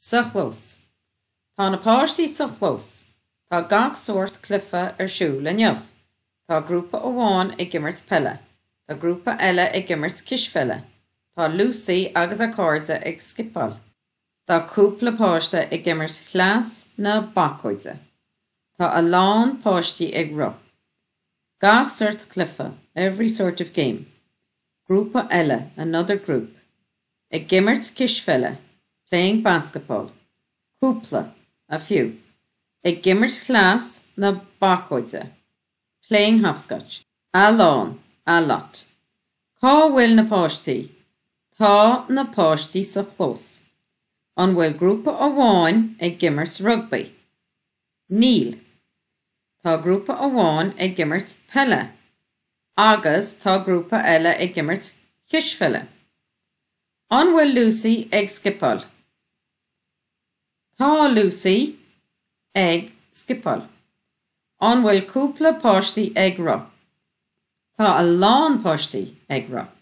Sa chlós. Tá na páistí sa chlós. Tá gach sórt cluiche ar siúl inniu. Tá grúpa amháin ag imirt peile. Tá grúpa eile ag imirt cispheile. Tá Lucy agus a cairde ag scipeáil. Tá cúpla páiste ag imirt chleas na bacóide. Tá a lán páistí ag rith. Gach sórt cluiche, every sort of game. Grúpa eile, another group. Ag imirt cispheile, playing basketball. Cúpla, a few. Ag imirt chleas na bacóide, playing hopscotch. A lán, a lot. Cá bhfuil na páistí? Tá na páistí sa chlós. An bhfuil grúpa amháin ag imirt rugbaí? Níl. Tá grúpa amháin ag imirt peile agus tá grúpa eile ag imirt cispheile. An bhfuil Lucy ag scipeáil? Tá Lucy ag scipeáil. An bhfuil cúpla páistí ag rith? Tá a lán páistí ag rith.